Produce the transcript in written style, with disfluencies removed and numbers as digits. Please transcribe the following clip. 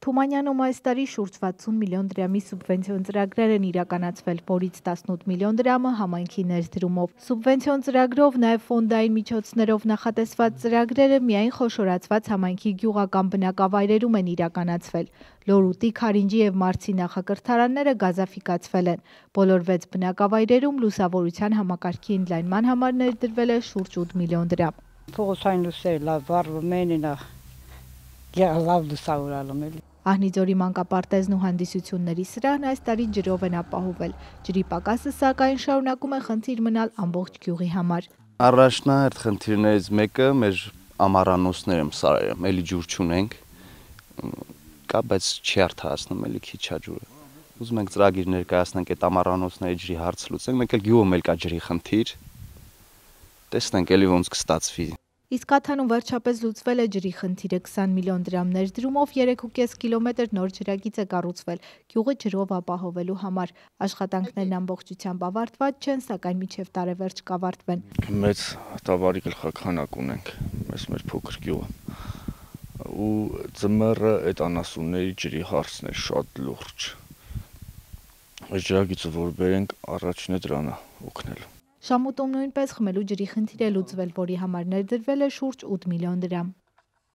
Թումանյանում այս տարի շուրջ 60 միլիոն դրամի սուբվենցիոն ծրագրեր են իրականացվել, որից 18 միլիոն դրամը համայնքի ներդրումով։ Սուբվենցիոն ծրագրով, նաև ֆոնդային միջոցներով նախատեսված ծրագրերը միայն խոշորացված համայնքի գյուղական բնակավայրերում են իրականացվել։ Լորուտի, Քարինջի եւ Մարցի նախակրթարանները գազաֆիկացվել են։ Բոլոր 6 բնակավայրերում լուսավորության համակարգի ընդլայնման համար ներդրվել է շուրջ 8 միլիոն դրամ։ Փողոցային լույսերը լավ վառվում են, լավ լուսավորալում են։ Ահնիձորի մանկապարտեզն ու հանդիսությունների սրահն այս տարի ջրով են ապահովել։ Ջրի պակասը, սակայն, շարունակում է խնդիր մնալ ամբողջ գյուղի համար։ Առաջնահերթ խնդիրներից մեկը մեր ամառանոցները սարերը, էլի ջուր չունենք, կա, բայց չի արդարացնում, էլի քիչ է ջուրը։ Ուզում ենք ծրագիր ներկայացնենք այդ ամառանոցների ջրի հարց լուծենք, մեկ էլ գյուղում էլ կա ջրի խնդիր։ Տեսնենք էլի ոնց կստացվի։ Իսկ Աթանում վերջապես լուծվել է ջրի խնդիրը, 20 միլիոն դրամ ներդրումով 3,5 կիլոմետր նոր ջրագիծ է կառուցվել գյուղը ջրով ապահովելու համար։ Աշխատանքներն ամբողջությամբ ավարտված չեն, սակայն մինչև տարեվերջ կավարտվեն։ Մեծ տավարի գլխաքանակ ունենք, մեր փոքր գյուղը։ Ու ձմեռը այդ անասունների ջրի հարցն է շատ լուրջ։ Այս ջրագիծը որ բերենք, առաջինը դրան է օգնելու։ Շամուտում նույնպես խմելու ջրի խնդիր է լուծվել, որի համար ներդրվել է շուրջ 8 միլիոն դրամ։